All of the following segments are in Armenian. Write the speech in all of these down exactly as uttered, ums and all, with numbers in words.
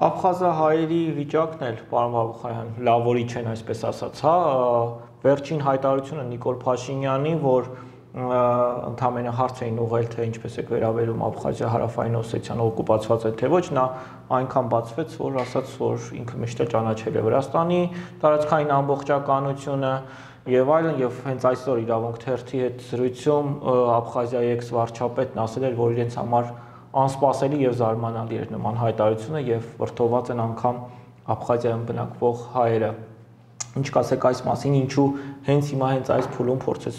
Աբխազահայերի վիճակն էլ, պարոն Բաբուխարյան, լավորի չեն, այսպես ասած, հա, վերջին հայտարարությունը Նիկոլ Փաշինյանի, որ ընդամենը հարց էին ուղղել, թե ինչպես է վերաբերում Աբխազիա Հարավային Օսեթիան օկուպացված է, թե ոչ, նա այնքան բացվեց, որ ասաց, որ ինքը միշտ է ճանաչել է Վրաստանի տարածքային ամբողջականությունը եւ այլն, եւ հենց այսօր Իրավունք թերթի հետ զրույցում Աբխազիայի էքս-վարչապետն ասել էր, որ իրենց համար անսպասելի եւ զարմանալի էր նման հայտարարությունը եւ վրդոված են անգամ Աբխազիայում բնակվող հայերը։ Ինչ կասեք այս մասին, ինչու հենց հիմա հենց այս փուլում փորձեց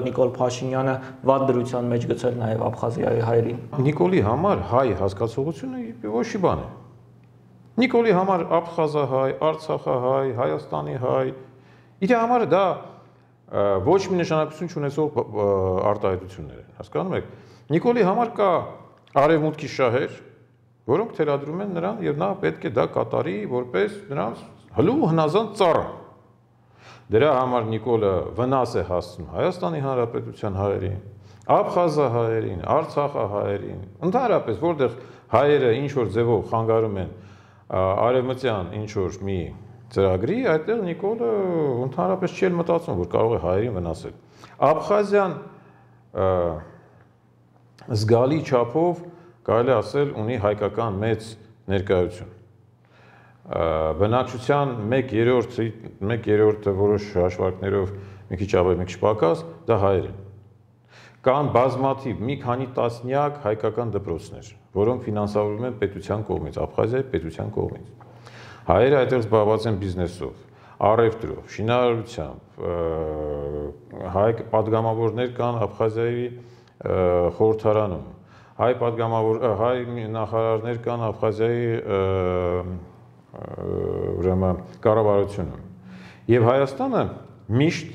Նիկոլ Փաշինյանը վատ դրության մեջ գցել նաեւ Աբխազիայի հայերին։ Նիկոլի համար հայ հասկացողությունը ոչ մի բան է։ Նիկոլի համար աբխազահայ, արցախահայ, Հայաստանի հայ, իր համար դա ոչ մի նշանակություն չունեցող արտահայտություններ են, հասկանում եք։ Նիկոլի համար կա արևմուտքի շահեր, որոնք թելադրում են նրան եւ նա պետք է դա կատարի որպես նրանց հլու հնազանդ ծառա։ Դրա համար Նիկոլը վնաս է հասցնում Հայաստանի Հանրապետության հայերին, աբխազահայերին, արցախահայերին, ընդհանրապես որտեղ հայերը ինչ որ ձևով խանգարում են արևմտյան ինչ որ մի ծրագրի, այդտեղ Նիկոլը ընդհանրապես չի մտածում, որ կարող է հայերին վնասել։ Աբխազիան զգալի չափով կարելի ասել ունի հայկական մեծ ներկայություն։ Բնակչության մեկ երրորդը որոշ հաշվարկներով մի քիչ ավելի, մի քիչ պակաս, դա հայեր են։ Կան բազմաթիվ մի քանի տասնյակ հայկական դպրոցներ, որոնք ֆինանսավորվում են պետության կողմից, Աբխազիայի պետության կողմից։ Հայերը այդտեղ զբաղված են բիզնեսով, առևտրով, շինարարությամբ, հայ պատգամավորներ կան Աբխազիայի խորհրդարանում, հայ պատգամավոր հայ նախարարներ կան Աբխազիայի ուրեմն կառավարությունում։ Եվ Հայաստանը միշտ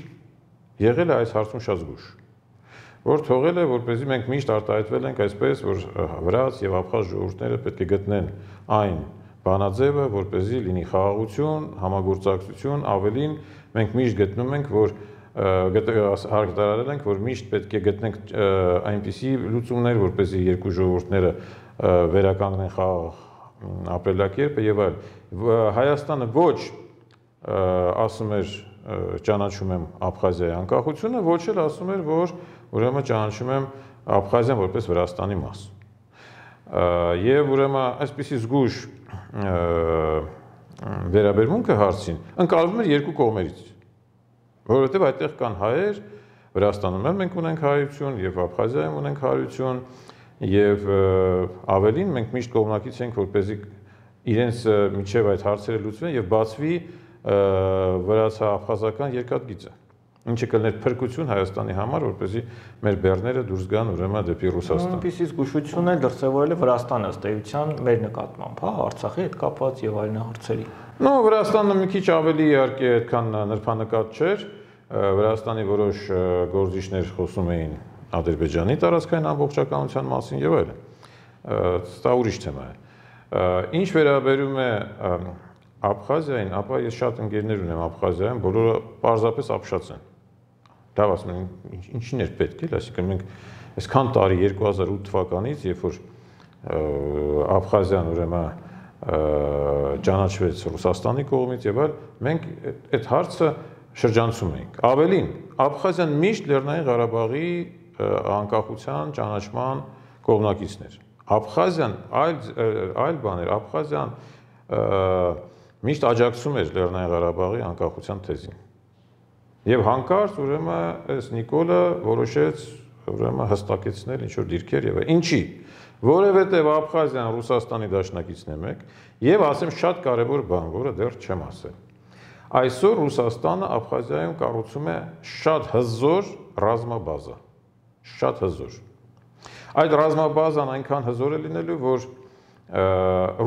եղել է այս հարցում շատ զգույշ, որ թողել է, որպեսզի մենք միշտ արտահայտվել ենք այսպես, որ վրաց եւ աբխազ ժողովուրդները պետք է գտնեն այն բանաձևը, որպեսզի լինի խաղաղություն, համագործակցություն, ավելին մենք միշտ գտնում ենք, որ հայտարարել ենք, որ միշտ պետք է գտնենք այնպիսի լուծումներ, որպեսզի երկու ժողովուրդները վերականգնեն խաղաղ ապրելակերպը եւ այլ։ Հայաստանը ոչ ասում էր ճանաչում եմ Աբխազիայի անկախությունը, ոչ էլ ասում էր, որ ուրեմն ճանաչում եմ Աբխազիան որպես Վրաստանի մաս։ Եվ ուրեմն այսպիսի զգույշ վերաբերմունքը հարցին ընկալվում էր երկու կողմերից, որովհետև այդտեղ կան հայեր, Վրաստանում էլ մենք ունենք հայություն եւ Աբխազիայում ունենք հայություն եւ ավելին մենք միշտ կողմնակից ենք, որպեսզի իրենց միջև այդ հարցերը լուծվեն եւ բացվի վրացա-աբխազական երկաթգիծը, ինչը կլներ փրկություն Հայաստանի համար, որպեսզի մեր բեռները դուրս գան ուրեմն դեպի Ռուսաստան։ Այնպիսի զգուշություն է դրսևորել է Վրաստանը ըստ էության մեր նկատմամբ, հա, Արցախի հետ կապված եւ այլն հարցերի։ Նո, Վրաստանը մի քիչ ավելի իհարկե այդքան նրբանկատ չէր, Վրաստանի որոշ գործիչներ խոսում էին Ադրբեջանի տարածքային ամբողջականության մասին եւ այլն։ Դա ուրիշ թեմա է։ Ինչ վերաբերում է Աբխազիային, ապա ես շատ ընկերներ ունեմ Աբխազիայում, բոլորը պարզապես ապշած են։ Դա ասում են, ինչին էր պետք է, այսինքն մենք այսքան տարի երկու հազար ութ թվականից, երբ որ Աբխազիան ուրեմն ճանաչվեց Ռուսաստանի կողմից եւ այլ, մենք այդ հարցը շրջանցում ենք։ Ավելին, Աբխազիան միշտ Լեռնային Ղարաբաղի անկախության ճանաչման կողմնակիցն էր։ Աբխազիան այլ այլ բան էր, Աբխազիան միշտ աջակցում էր Լեռնային Ղարաբաղի անկախության թեզին։ Եվ հանկարծ ուրեմն այս Նիկոլը որոշեց ուրեմն հստակեցնել ինչ որ դիրքեր եւ ինչի, որովհետեւ Աբխազիան Ռուսաստանի դաշնակիցն է մեկ եւ ասեմ շատ կարեւոր բան, որը դեռ չեմ ասել։ Այսօր Ռուսաստանը Աբխազիայում կառուցում է շատ հզոր ռազմաբազա, շատ հզոր։ Այդ ռազմաբազան այնքան հզոր է լինելու, որ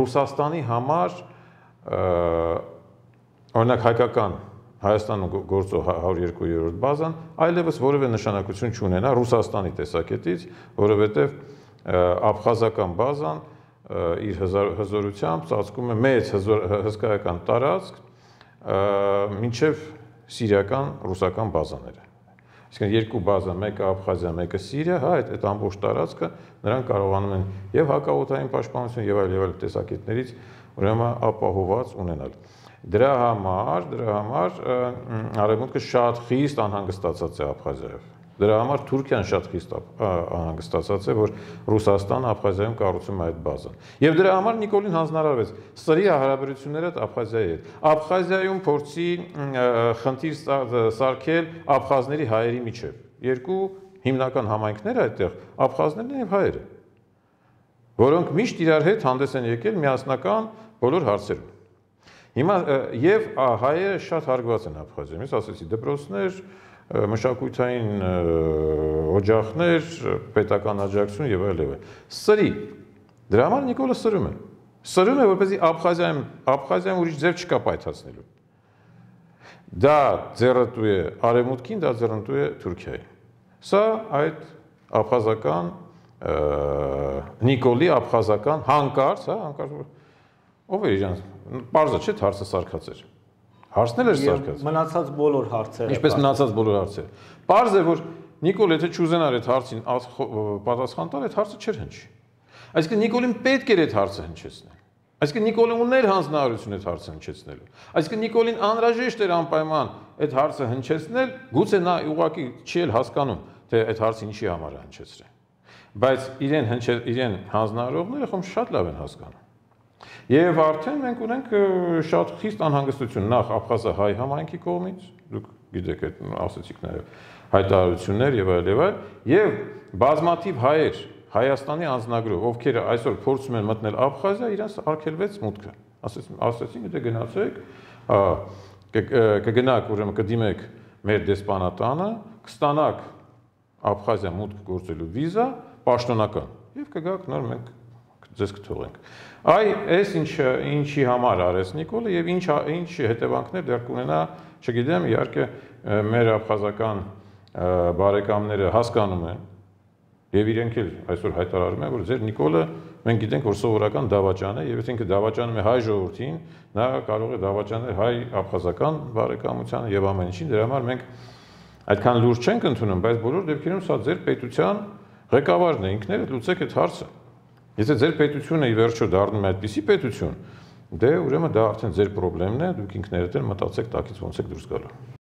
Ռուսաստանի համար օրինակ հայկական Հայաստանում գործող հարյուր երկու բազան այլևս որևէ նշանակություն չունենա Ռուսաստանի տեսակետից, որովհետև աբխազական բազան իր հզորությամբ ծածկում է մեծ հսկայական տարածք մինչև սիրիական ռուսական բազաները։ Այսինքն երկու բազա, մեկը Աբխազիա, մեկը Սիրիա, հա, այդ այդ ամբողջ տարածքը նրանք կարողանում են եւ հակաօդային պաշտպանություն եւ այլ եւ այլ տեսակետներից ուրեմն ապահովված ունենալ։ Դրա համար, դրա համար Արևմուտքը շատ խիստ անհանգստացած է Աբխազիայով։ Դրա համար Թուրքիան շատ խիստ անհանգստացած է, որ Ռուսաստանը Աբխազիայում կառուցում է այդ բազան։ Եվ դրա համար Նիկոլին հանձնարարվեց սրի հարաբերությունները Աբխազիայի հետ։ Աբխազիայում փորձի խնդիր սարքել աբխազների հայերի միջև։ Երկու հիմնական համայնքներ այդտեղ աբխազներն եւ հայերը, որոնք միշտ իրար հետ հանդես են եկել միասնական բոլոր հարցերում։ Հիմա եւ հայերը շատ հարգված են Աբխազիայում, ես ասեցի դպրոցներ, մշակութային օջախներ, պետական աջակցություն եւ այլ եւ այլ։ Սրի։ Դրա համար Նիկոլը սրում է։ Սրում է, որպեսզի Աբխազիայում, Աբխազիայում ուրիշ ձև չկա պայթացնելու։ Դա ձեռնտու է Արևմուտքին, դա ձեռնտու է Թուրքիային։ Սա այդ աբխազական Նիկոլի աբխազական հանկարծ, հա, հանկարծ ով է իրան, պարզը չէ, հարցը սարքած էր։ Հարցն էլ էր սարքած։ Մնացած բոլոր հարցերը։ Ինչպես մնացած բոլոր հարցերը։ Պարզ է, որ Նիկոլ եթե չուզենար այդ հարցին պատասխան տալ, այդ հարցը չէր հնչի։ Այսինքն Նիկոլին պետք էր այդ հարցը հնչեցնել։ Այսինքն Նիկոլը ուներ հանձնարարություն այդ հարցը հնչեցնելու։ Այսինքն Նիկոլին անհրաժեշտ էր անպայման այդ հարցը հնչեցնել, գուցե նա ուղղակի չի էլ հասկանում, թե այդ հարցը ինչի համար է հնչեցրել։ Բայց իրեն իրեն հանձնարարողները խոմ շատ լավ են հասկանում։ Եվ արդեն մենք ունենք շատ խիստ անհանգստություն նախ աբխազահայ համայնքի կողմից, դուք գիտեք այդ ասեցիք նաև հայտարարություններ եւ այլ եւ այլ, եւ բազմաթիվ հայեր Հայաստանի անձնագրով, ովքեր այսօր փորձում են մտնել Աբխազիա, իրենց արգելվեց մուտքը։ Ասեցին, ասեցին, դե գնացեք, կգնաք, ուրեմն կդիմեք մեր դեսպանատանը, կստանաք Աբխազիա մուտք գործելու վիզա, պաշտոնական, եւ կգաք նոր մենք ձեզ կթողենք։ Այ այս ինչը ինչի համար արեց Նիկոլը եւ ինչ ինչ հետևանքներ դեռ կունենա, չգիտեմ, իհարկե մեր աբխազական բարեկամները հասկանում են եւ իրենք էլ այսօր հայտարարում են, որ ձեր Նիկոլը մենք գիտենք, որ սովորական դավաճան է եւ եթե ինքը դավաճանում է հայ ժողովրդին, նա կարող է դավաճանել հայ աբխազական բարեկամությանը եւ ամեն ինչին, դրա համար մենք այդքան լուրջ չենք ընդունում, բայց բոլոր դեպքերում սա ձեր պետության ղեկավարն է, ինքներդ լուծեք այդ հարցը։ Եթե ձեր պետությունը ի վերջո դառնում է այդպիսի պետություն, դե ուրեմն դա արդեն ձեր խնդիրն է, դուք ինքներդ էլ մտածեք տակից ոնց եք դուրս գալու։